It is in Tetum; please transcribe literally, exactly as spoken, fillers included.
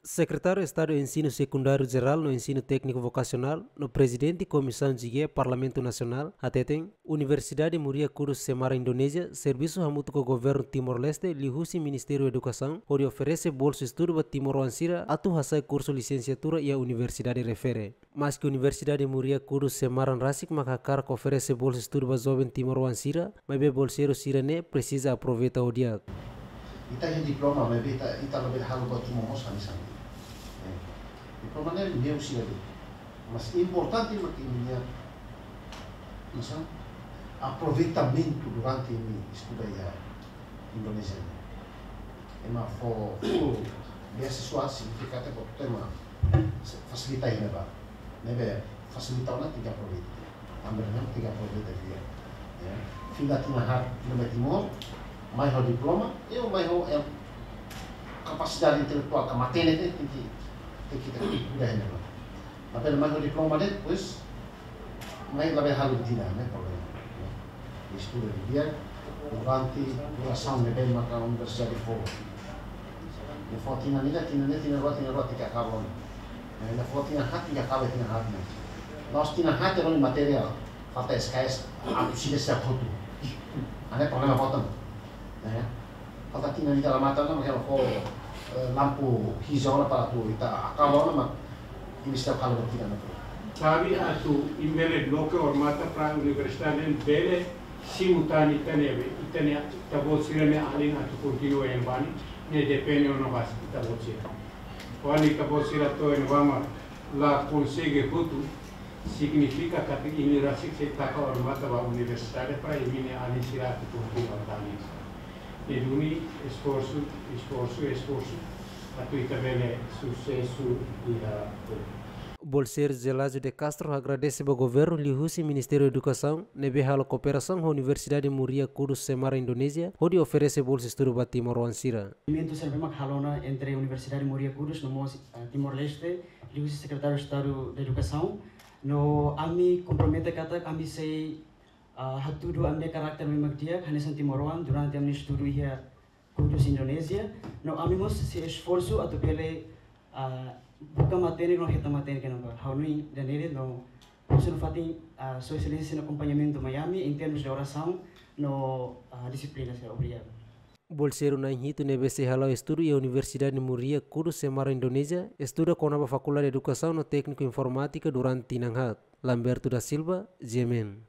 Sekretáriu Estadu Ensinu Sekundáriu Jerál no Ensinu Tékniku Vokasionál no Prezidente Komisaun G G Parlamentu Nasionál hateten, Universidade Muria Kudus Semarang Indonézia servisu hamutuk ho Governu Timor-Leste liuhusi Ministériu Edukasaun hodi oferese bolsa estudu ba timoroan sira atu hasai kursu lisensiatura iha universidade refere. Maski Universidade Muria Kudus Semarang rasik mak hakarak oferese bolsa estudu ba joven timoroan sira, maibé bolseiru sira-ne'e presiza aproveita ho di'ak. Ita iha diploma, maibé ita, ita labele halo buat ruma mós hanesan ne'e. Eh, diploma ne'e meus sira de'it. Mas importante mak imi-nia, maksudnya, aproveitamentu durante imi estuda iha Indonézia ne'e. Ema fó, fó beasiswa signifika katak ema fasilita iha ne'ebá. Ne'ebé fasilita ona tenke aproveita. Tanba ne'e tenke aproveita di'ak. Ya. Fila tinan haat ne'ebé Timor, mai ho diploma, i mai ho, em, kapasidade intelektuál ka matenek ne'e tenke, tenke, tenke kuda iha ne'ebá. Maibé mai ho diploma de'it, pois, mai labele halo tinan ne'e problema. Estuda di'ak durante durasaun ne'ebé maka universidade fó. Ne'e fó tinan ida, tinan ida, tinan rua, tinan rua, tenke akaba ona. Ne'e fó tinan haat, tenke akaba tinan haat ne'e. La'ós tinan haat, terus matéria falta S K S, atu sida sira hotu. Ne'e problema boot ona. Ya. Falta tinan ida la mate ona, mak ha'u fó, eh, lampu hijau ona para atu ita akaba ona, mak imi setiap kali bertiga na. Sabe atu imi bele bloke odamatan para universidade bele simu tan ita-nia, ita-nia, ita-boot sira-nia alin atu kontinua iha ne'ebá ne'e, ne'e depende ona ba ita-boot sira. Kuandu ita-boot sira to'o iha ne'ebá mak la konsege hotu, signifika katak imi rasik sei taka odamatan ba universidade para imi-nia alin sira atu kontinua tan. Ne'e duni esforsu, esforsu, esforsu, atu ita bele susesu iha. Bolseiru Gelásio de Castro agradese ba Governu liuhusi Ministériu Edukasaun ne'ebé halo kooperasaun ho Universidade Muria Kudus Semarang Indonézia hodi oferese bolsa estudu ba timoroan sira. Movimentu sira ne'ebé mak halo ona entre Universidade Muria Kudus no mós, ah, Timor-Leste, liuhusi Sekretáriu Estadu Edukasaun, no ami kompromete katak ami sei, ah, hatudu ami-nia karakter ne'ebé mak di'ak hanesan timoroan durante ami estudu iha Kudus Indonézia, no ami mós sei esforsu atu bele, ah, buka matenek no hetan matenek iha ne'ebá. Ha'u hanoin ida-ne'e de'it no husu nafatin, ah, Sua Exelénsia sira-nia akompañamentu mai ami em termos de orasaun no, ah, dixiplina sira. Obrigadu. Bolseiru na'in hitu ne'ebé sei hala'o estudu iha Universidade Muria Kudus Semarang Indonézia, estuda kona-ba Fakuldade Edukasaun no Tékniku Informátika durante tinan haat. Lamberto da Silva, G M N.